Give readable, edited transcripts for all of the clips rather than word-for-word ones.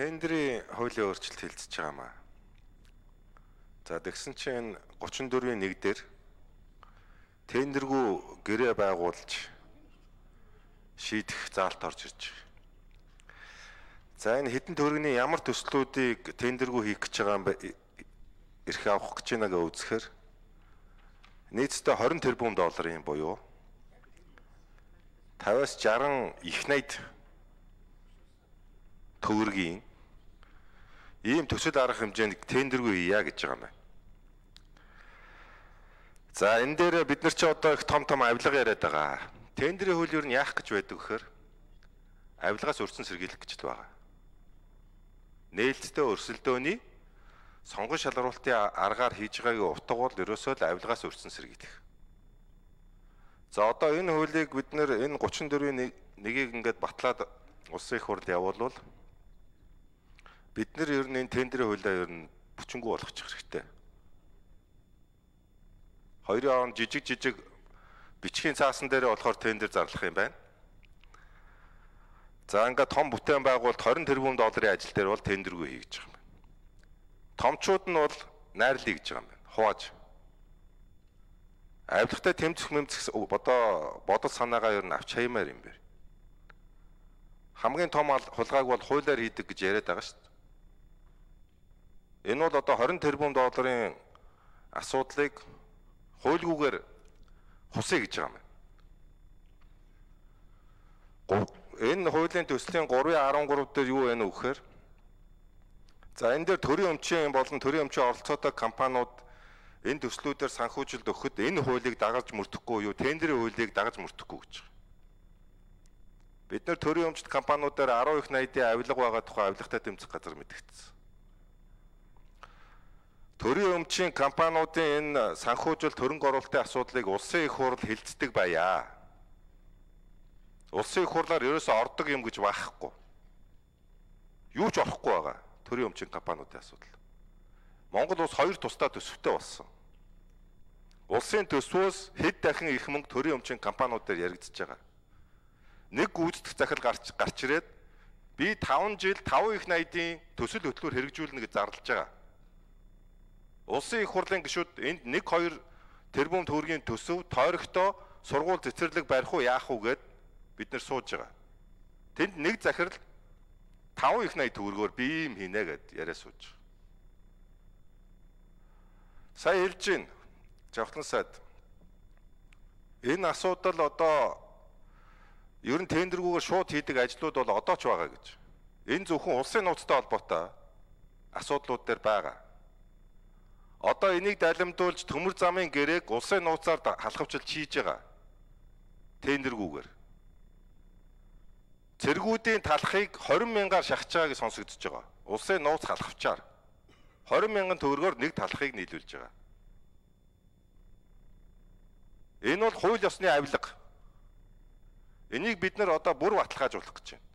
Тендерийн хуулийн өөрчлөлт хэлцэж байгаа маа. За тэгсэн чинь 34-ийн 1 дээр тендергүй гэрээ байгуулж шийдэх заалт орж ирж байгаа. За энэ хэдэн төгрөгийн ямар төслүүдийг тендергүй хийх гэж байгаа юм бэ? Ирэх авах гэж байгааг үзэхээр нийтдээ 20 тэрбум долларын буюу 50-аас 60 их найд төгрөгийн ийм төсөл арга хэмжээнд тендергүй хийя гэж байгаа юм байна. За энэ дээр бид нар ч одоо их том авилга яриад байгаа. Тендерийн хууль юу нь яах гэж байдаг гэхээр авилгаас өрсөн сэргийлэх гэж байгаа. Нээлттэй өрсөлдөөний сонгон шалгаруулалтын аргаар хийж байгаагийн утга бол ерөөсөө л авилгаас өрсөн сэргийлэх. За одоо энэ хуулийг бид нэр энэ 34-ийн 1-ийг ингээд батлаад улсын их хурлд явуулвал бид нар ер нь энэ тендерийн хуулиа ер нь бүчингүү болгочих хэрэгтэй. Хоёрын жижиг бичгийн цаасан дээр болохоор тендер зарлах юм байна. За ингээд том бүтээн байгуулалт 20 тэрбум долларын ажил дээр бол тендергүй хий гэж байгаа юм байна. Томчууд нь бол найрлая гэж байгаа юм байна. Хувааж. Авилгатай тэмцэх бодол санаагаа ер нь авч хаймаар юм байна. Хамгийн том хулгайг бол хуулиар хийдэг гэж яриад байгаа шүү дээ. Энэ бол одоо 20 тэрбум долларын асуудлыг хуульгүйгээр хусъя гэж байгаа юм. Энэ хуулийн төслийн 3.13 дээр юу байна вэ гэхээр за энэ дээр төрийн өмчийн болон төрийн өмчийн оролцоотой компаниуд энэ төслүүдээр санхүүжилт өгөхөд энэ хуулийг дагаж мөрдөхгүй юу тендерийн хуулийг дагаж мөрдөхгүй гэж байгаа. Бид нар төрийн өмчт компаниудаар 10 их найдын авилга байгаа тухай авилгатай тэмцэх газар мэдгдсэн. Төрийн өмчийн компаниудын энэ санхүүжилт хөрөнгө оруулалтын асуудлыг улсын их хурл хилцдэг байя. Улсын их хурлаар ерөөсөө ордог юм гэж байхгүй. Юу ч орохгүй байгаа. Төрийн өмчийн компаниудын асуудал. Монгол улс 2 тусдаа төсөвтэй болсон. Улсын төсвөөс хэд дахин их мөнгө төрийн өмчийн компаниуд дээр яригдчихэж байгаа. Нэг гүйцэтгэх захил гарч ирээд би 5 жил 5 их найдын төсөл хөтөлбөр хэрэгжүүлнэ гэж зарлаж байгаа. Улсын их хурлын гишүүд энд 1-2 тэрбум төгрөгийн төсөв тойрогтой сургууль цэцэрлэг барих уу яах уу гэд бид нар сууж байгаа. Тэнд нэг захирал 5 их найд төгрөгөөр би юм хийнэ гэд яриа сууж байгаа. Сая хэлж гин Жавхлан сайд энэ асуудал одоо ер нь тендергүүгээр шууд хийдэг ажлууд бол одоо ч байгаа гэж. Энэ зөвхөн улсын нууцтай холбоотой асуудлууд дээр байгаа. Одоо энийг далимдуулж төмөр замын гэрээг улсын нууцаар халахвчилж хийж байгаа. Тендергүүгээр. Цэргүүдийн талхыг 20 мянгаар шахаж байгааг сонсогдож байгаа. Улсын нууц халахвчаар 20 мянган төгрөгөөр нэг талхыг нийлүүлж байгаа. Энэ бол хууль ёсны авилга. Энийг бид нар одоо бүр баталгаажуулах гэж байна.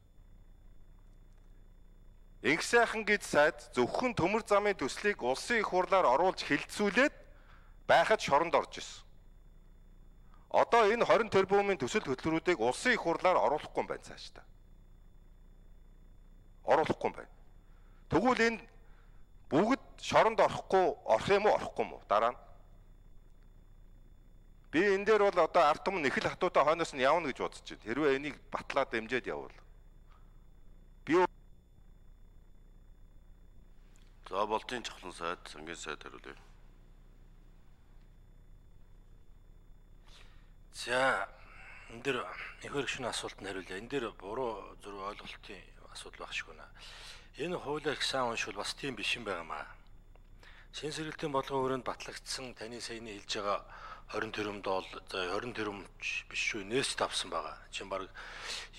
Инх сайхан гэж сайд зөвхөн төмөр замын төслийг улсын их хурлаар оруулж хилцүүлээд байхад шоронд орж ирсэн. Одоо энэ 20 тэрбумын төсөл хөтөлбөрүүдийг улсын их хурлаар оруулахгүй юм байна цаашдаа. Оруулахгүй юм байна. Тэгвэл энэ бүгд шоронд орох юм уу орохгүй юм уу дараа нь? Би энэ дээр бол одоо ард түмэн их л хатуутай хойноос нь явна гэж бодож байна. Хэрвээ энийг батлаад дэмжиж явбал. За болтын Жавхлан сайд, сангийн сайд хариулъя. За энэ дэр ихэр гүшүүний асуултанд хариулъя. Энэ дэр буруу зөв ойлголтын асуудал байх шиг байна. Энэ хуулиар их сайн уншвал бас тийм биш юм байнамаа. Шин сэргэлтийн бодлогын хүрээнд батлагдсан таны саяны хэлж байгаа 20 тэрбум доллар, за 20 тэрбум биш шүү, нээст авсан байгаа. Чин баг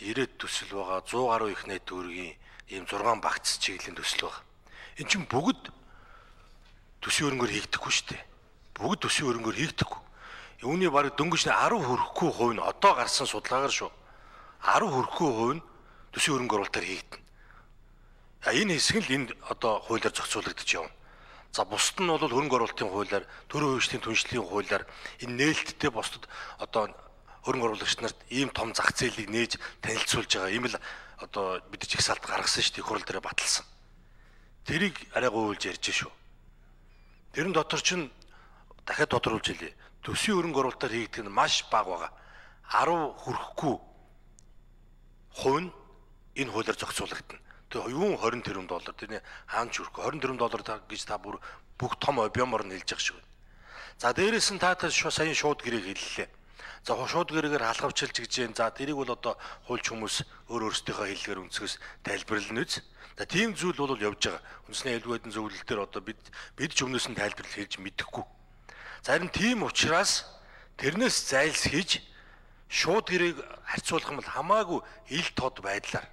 90 төсөл байгаа, 100 гаруй их найд төгрөгийн ийм 6 багц чиглэлийн төсөл байгаа. Энд чинь бүгд төсвийн хөрөнгөөр хийгдэхгүй шүү дээ. Бүгд төсвийн хөрөнгөөр хийгдэхгүй. Үүний баг дөнгөж 10 хүрэхгүй хувь нь одоо гарсан судалгаагаар шүү. 10 хүрэхгүй хувь нь төсвийн хөрөнгө оруулалтаар хийгдэнэ. Энэ хэсэг л энд одоо хуулиар зохицуулагдаж явна. За бусд нь бол хөрөнгө оруулалтын хуулиар, төрийн хувьчдын түншлэлийн хуулиар энэ нээлттэй бусдад одоо хөрөнгө оруулагч нарт ийм том зах зээлийг нээж танилцуулж байгаа. Ийм л одоо бид ч их салт гаргасан шүү дээ хурал дээр баталсан. тэрийг арай гуйлж ярьж шүү. Тэрэн дотор чинь дахиад тодруулж хэлье. Төсвийн хөрөнгө оруулалтаар хийгдэх нь маш бага байгаа. 10 хүрэхгүй хувь нь энэ хуулиар зохицуулагдана. Тэгээ юун 20 тэрбум доллар тэрний хаан ч хүрхгүй 20 тэрбум доллар гэж та бүр бүх том объемор нь хэлж явах шиг байна. За дээрээс нь та сая шууд гэрээг хэллээ. За шууд гэрээгээр халахвчилж гэж юм. За тэрийг бол одоо хуульч хүмүүс өөрсдийнхөө хэллэгээр өнцгөөс тайлбарлана үз. За тийм зүйл бол явж байгаа. Үндэсний аюулгүй байдлын зөвлөл дээр одоо бид ч өмнөөс нь тайлбарлал хийж мэдэхгүй. Зарим тийм учраас тэрнээс зайлсхийж шууд гэрээг харьцуулах юм бол хамаагүй ил тод байдлаар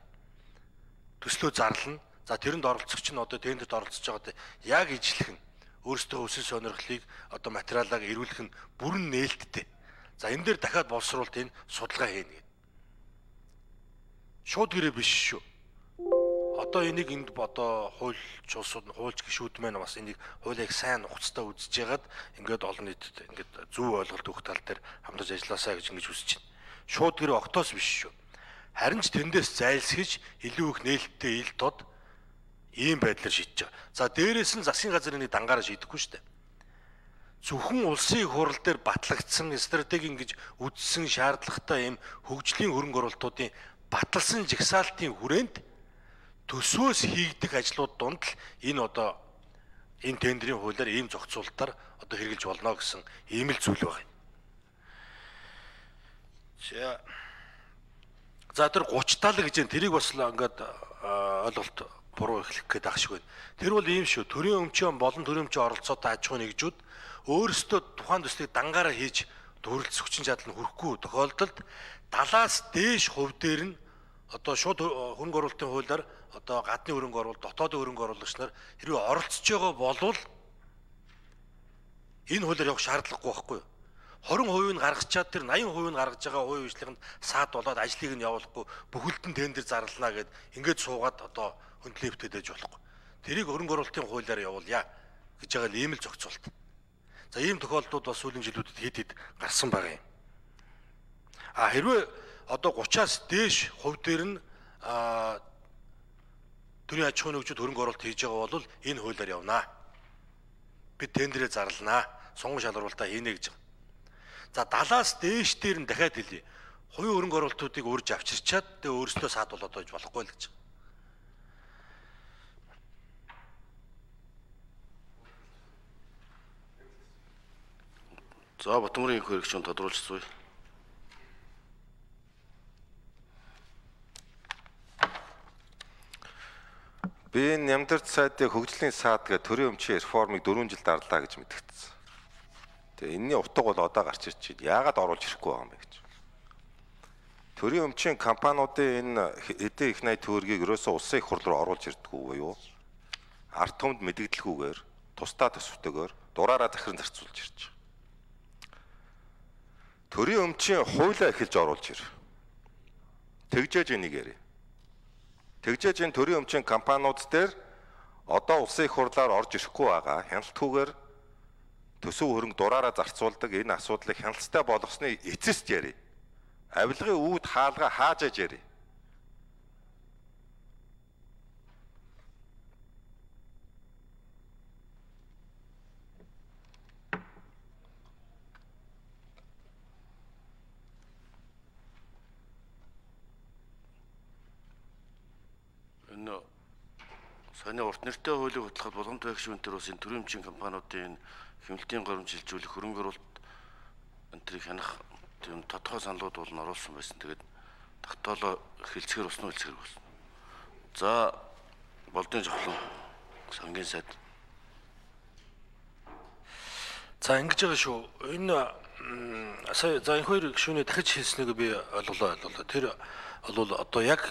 төслөө зарлана. За тэрэнд оролцогч нь одоо тендерт оролцож байгаад яг ижлэх нь өөрсдөө өсөл сонирхлыг одоо материалаа эрүүлэх нь бүрэн нээлттэй. За энэ дээр дахиад боловсруулалт энэ судалгаа хийнэ гэдэг. Шууд гэрээ биш шүү. Одоо энийг энд одоо хуульч улсууд хуульч гишүүд маань бас энийг хуулийг сайн ухацтай үзэж ягаад ингээд олон нийтэд ингээд зөв ойлголт өгөх тал дээр хамтарч ажилласаа гэж ингэж хүсэж байна. Шууд гэрээ октоос биш шүү. Харин ч тэндээс зайлсхийж илүү их нээлттэй ил тод ийм байдлаар шийдэж байгаа. За дээрээс нь засгийн газрын дангаараа шийдэхгүй шүү дээ. Зөвхөн улсын хурал дээр батлагдсан стратеги ингэж үздсэн шаардлагатай ийм хөгжлийн хөрөнгө оруулалтуудын баталсан жагсаалтын хүрээнд төсвөөс хийгдэх ажлууд донд л энэ одоо энэ тендерийн хуулиар ийм зохицуулалтаар одоо хэрэгжилж болно гэсэн ийм л зүйл байна. За тэр 30 талаг гэж тэрийг бас ингээд ойлголт буруу эхлэх гээд ах шиг байна. Тэр бол ийм шүү. Төрийн өмчийн болон төрийн өмчийн оролцоотой аж ахуй нэгжүүд өөрсдөө тухайн төслийг дангаараа хийж төрөлц хүчин чадал нь хүрэхгүй тохиолдолд 70-аас дээш хувь дээр нь одоо шууд хөрөнгө оруулалтын хуулиар одоо гадны хөрөнгө оруулалт, дотоодын хөрөнгө оруулагч нар хэрвээ оролцож байгаа болвол энэ хуулиар явах шаардлагагүй байхгүй юу? 20% нь гаргачаад тэр 80% нь гаргаж байгаа хувийн хвшлийнхэнд саад болоод ажлыг нь явуулахгүй бүхэлдэн тендер зарлана гэд ингээд суугаад одоо хөндлөөвтэй дэж болохгүй. Тэрийг хөрөнгө оруулалтын хуулиар явуулъя гэж байгаа л ийм л зохицуулт. За ийм тохиолдлууд бас сүүлийн жилүүдэд хэд гарсан байгаа юм. Хэрвээ одоо 30-аас дээш хувь дээр нь төрийн аж ахуйн нэгжүүд хөрөнгө оруулалт хийж байгаа бол энэ хуулиар явнаа. Бид тендерээ зарланаа. Сонгон шалгуулалтаа хийнэ гэж байгаа. За 70-аас дээш дээр нь дахиад хэлье. Хувийн хөрөнгө оруулалтуудыг урьж авчирчаад тэгээ өөрсдөө саад болоод байж болохгүй л гэж байгаа. За Батмөрийн их хэрэгч нь тодруулчихсан. Би нямдарч сайдын хөгжлийн саад гэх төрийн өмчийн реформыг 4 жил дарлаа гэж мэдгэцсэн. Тэгээ энэний утга бол одоо гарч ирж байна. Яагаад оруулж ирэхгүй байгаа юм бэ гэж. Төрийн өмчийн компаниудын энэ эдийн их найт төгрөгийг ерөөсөө улсын их хурл руу оруулж ирдэггүй буюу ард түмэнд мэдэгдэлгүйгээр тусдаа төсөвтэйгээр дураараа захиран зарцуулж ирж байгаа. Төрийн өмчийн хуулиа эхэлж оруулж ир. Тэгжээж энийг ярив. Тэгжээж энэ төрийн өмчийн компаниуд дээр одоо улсын их хурлаар орж ирэхгүй байгаа хяналтгүйгээр төсөв хөрөнгө дураараа зарцуулдаг энэ асуудлыг хяналттай болгосны эцэст ярив. Авилгын үүд хаалга хаажээж ярив. Саяны урт нэртэй хуулийг хөтлөхөд болгоомжтой гишүүнтэр бас энэ төрийн өмчийн компаниудын хэмнэлтийн горимж шилжүүлэх хөрөнгө оруулалт энтрийг хянах тийм тодорхой саналууд бол оруулсан байсан. Тэгээд тогтоолоо хэлцгээр уснаа хэлцгээр болсон. За болдын жавхлан сангийн сайд. За ингэж байгаа шүү. Энэ сая за энэ хоёр гишүүний дахиж хэлснийг би ойлголоо. Тэр бол одоо яг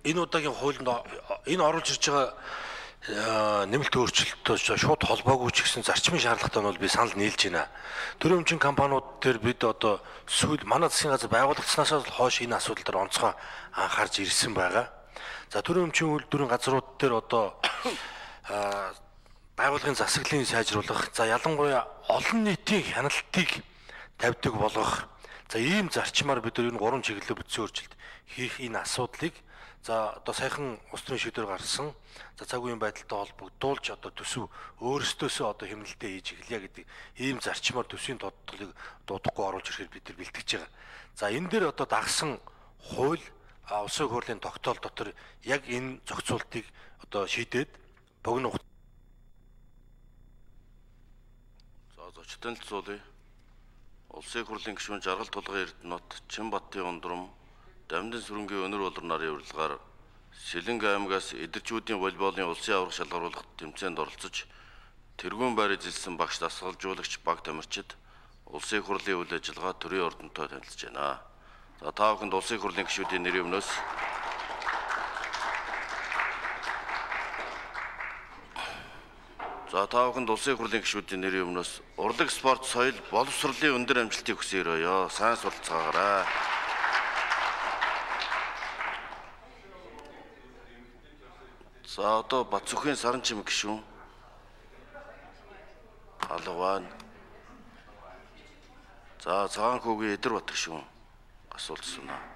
энэ удаагийн хуулинд энэ оруулж ирж байгаа нэмэлт өөрчлөлтөд шууд холбоогүй ч гэсэн зарчмын шаардлагатай нь бол би санал нийлж байна. Төрийн өмчийн компаниуд дээр бид одоо сүүл манай засгийн газар байгуулагдсанаас хойш энэ асуудал дээр онцгой анхаарч ирсэн байгаа. За төрийн өмчийн үйлдвэрийн газрууд дээр одоо байгууллагын засаглалыг сайжруулах, за ялангуяа олон нийтийн хяналтыг тавьдаг болгох. За ийм зарчмаар бид нар энэ 3 чиглэлээр бүтсэн өөрчлөлт хийх энэ асуудлыг За одоо саяхан улс төрийн шийдвэр гаргасан. За цаг үеийн байдалтай холбогдуулж одоо төсөв өөрсдөөсөө одоо хэмнэлтэд хийж эхлэе гэдэг ийм зарчмаар төсвийн тодтолыг дуудахгүй оруулж ирэхээр бид нар бэлтгэж байгаа. За энэ дээр одоо дагсан хууль улсын хурлын тогтоол дотор яг энэ зохицуултыг одоо шийдээд богино зочдын төлөвлөе. Улсын хурлын гишүүн Жаргал Тулгын Эрдэнэт, Чинбаттын Ундрам, Дамдын сүрэнгийн өнөр болор нарын урилгаар Сэлэнг аймгаас эдэрчүүдийн волейболын улсын аварга шалгаруулахад тэмцээнд оролцож тэргүүн байр эзэлсэн багш дасгалжуулагч баг тамирчид улсын хурлын үйл ажиллагаа төрийн ордонтой танилцж байна. За та бүхэнд улсын хурлын гишүүдийн нэрийн өмнөөс улсын хурлын гишүүдийн нэрийн өмнөөс урлаг, спорт, соёл, боловсролын өндөр амжилтыг хүсье. Сайн суралцгаарай. За одоо Батцүхийн Саранчим гишүүн алга байна. За Цагаанхүүгийн Эдэрбат гишүүн асуулт асууна.